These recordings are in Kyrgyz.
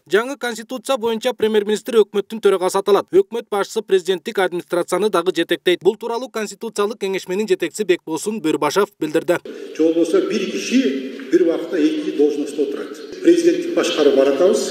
Жаңы конституция боюнча премьер-министр өкмөттүн төрагасы аталат. Өкмөт башчысы президенттик администрацияны дагы жетектейт. Бул тууралуу конституциялык кеңешменин жетекчиси Бекболсун Бөрбашев билдирди. Же болбосо бир киши бир убакта эки должностто отурат. Президенттик башкаруу баратабыз.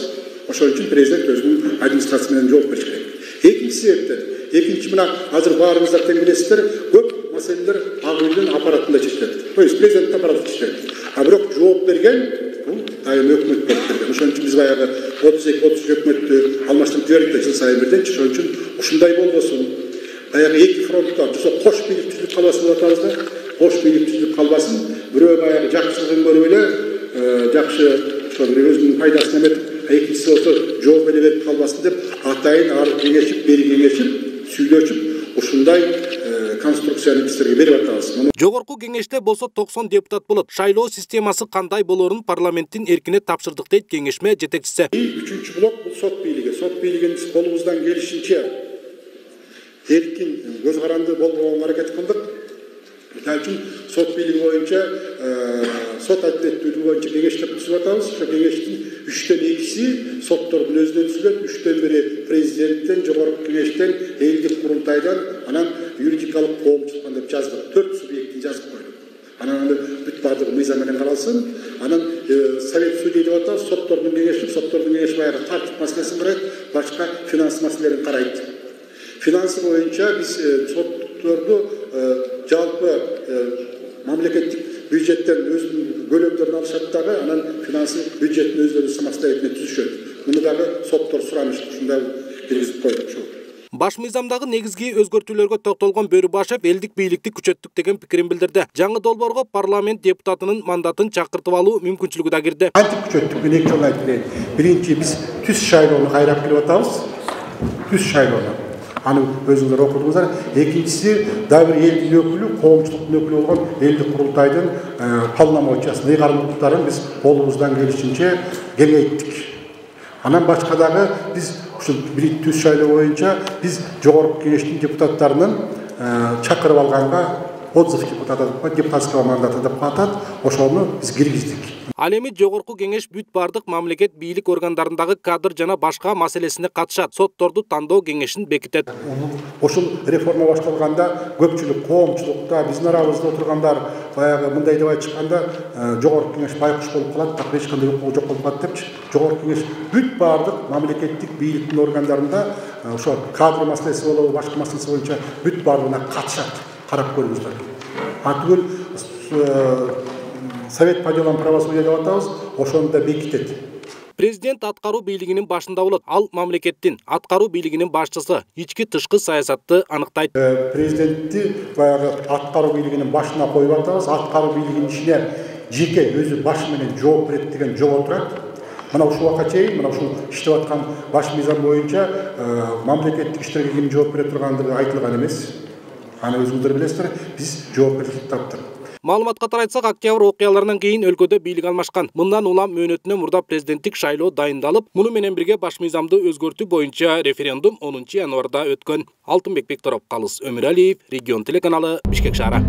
Ошол үчүн президент өзүнүн администрациясы менен жооп бериш керек. Экинчи себептер. Экинчи мына азыр баарыңыздар тең билесиздер, көп маселелер ак үйдүн аппаратында чечилет. То есть президент аппараты чечилет. А бирок жооп берген бул айым өкмөт болуп берген. Ошон үчүн биз баягы 32-33 өкмөттү алмаштырып жибердик да жыл сайын бирден. Ошон үчүн ушундай болбосун. Баягы эки фронтта кош бийлик түзүлүп калбасын деп атабыз да. Кош бийлик түзүлүп калбасын. Бирөө баягы жакшылыгын көрүп эле жакшы ошо бир өзүнүн пайдасын эметип, экинчиси болсо жооп эле берип калбасын деп атайын ары кеңешип, бери кеңешип, сүйлөшүп ушундай конструкцияны силерге берип атабыз. Жогорку кеңеште болсо 90 депутат болот. Шайлоо системасы кандай болоорун парламенттин эркине тапшырдык дейт кеңешме жетекчиси. Үчүнчү блок бул сот бийлиги. Сот бийлигин колубуздан келишинче эркин, көз каранды болбогонго аракет кылдык. Мисалы үчүн сот бийлиги боюнча сот адилеттүүлүгү боюнча кеңештер түзүп атабыз. Ошо кеңештин 3төн 2си соттордун өзүнөн түзүлөт, 3төн 1 президенттен, жогорку кеңештен, элдик курултайдан, анан юридикалык коомчулуктан деп жаздык. 4 субъектти жазып койдук. Анан аны бүт бардыгы мыйзам менен каралсын. Анан совет судей деп атабыз, соттордун кеңеши баягы тартип маселесин карайт, башка финанс маселелерин карайт. Финансы боюнча биз сотторду жалпы мамлекеттик бюджеттен өзүнүн бөлөмдөрүн алышат дагы, анан финансы бюджеттин өздөрү самостоятельно түзүшөт. Муну дагы соттор суранышты, ушундай киргизип койдук. Баш мыйзамдагы негизги өзгөртүүлөргө токтолгон Бөрбашев элдик бийликти күчөттүк деген пикирин билдирди. Жаңы долбоорго парламент депутатынын мандатын чакыртып алуу мүмкүнчүлүгү да кирди. Антип күчөттүк мен эки жолу айтып берейин. Биринчи биз түз шайлоону кайрап келип атабыз. Түз шайлоону. Аны өзүңүздөр окудуңуздар. Экинчиси дагы бир элдин өкүлү, коомчулуктун өкүлү болгон элдик курултайдын полномочиясын, ыйгарымдуулуктарын биз колубуздан келишинче кеңейттик. Анан башка дагы биз ушул бир түз шайлоо боюнча биз жогорку кеңештин депутаттарынын чакырып алганга отзыв депутатского мандата деп атат. Ошону биз киргиздик. Ал эми жогорку кеңеш бүт бардык мамлекет бийлик органдарындагы кадр жана башка маселесине катышат. Сотторду тандоо кеңешин бекитет. Ошол реформа башталганда көпчүлүк коомчулукта биздин арабызда отургандар баягы мындай деп айтышканда жогорку кеңеш байкуш болуп калат, так эч кандай укугу жок болуп калат депчи. Жогорку кеңеш бүт бардык мамлекеттик бийликтин органдарында ошо кадр маселеси болобу, башка маселеси боюнча бүт бардыгына катышат. Карап көрүңүздөр. Атүгүл Совет по делам правосудия деп атабыз, ошону да бекитет. Президент аткаруу бийлигинин башында болот. Ал мамлекеттин аткаруу бийлигинин башчысы ички тышкы саясатты аныктайт. Президентти баягы аткаруу бийлигинин башына коюп атабыз. Аткаруу бийлигинин ишине жеке өзү башы менен жооп берет деген жол отурат. Мына ушул убакка чейин, мына ушул иштеп аткан баш мыйзам боюнча мамлекеттик иштерге ким жооп бере тургандыгы айтылган эмес. Аны өзүңүздөр билесиздер, биз жоопкерчилик таптык. Маалыматка тарайтсак, октябрь окуяларынан кийин өлкөдө бийлик алмашкан. Мындан улам мөөнөтүнөн мурда президенттик шайлоо дайындалып, муну менен бирге баш мыйзамды өзгөртүү боюнча референдум 10 январда өткөн. Алтынбек Бектуров, Калыс Өмүралиев, Регион телеканалы, Бишкек шаары.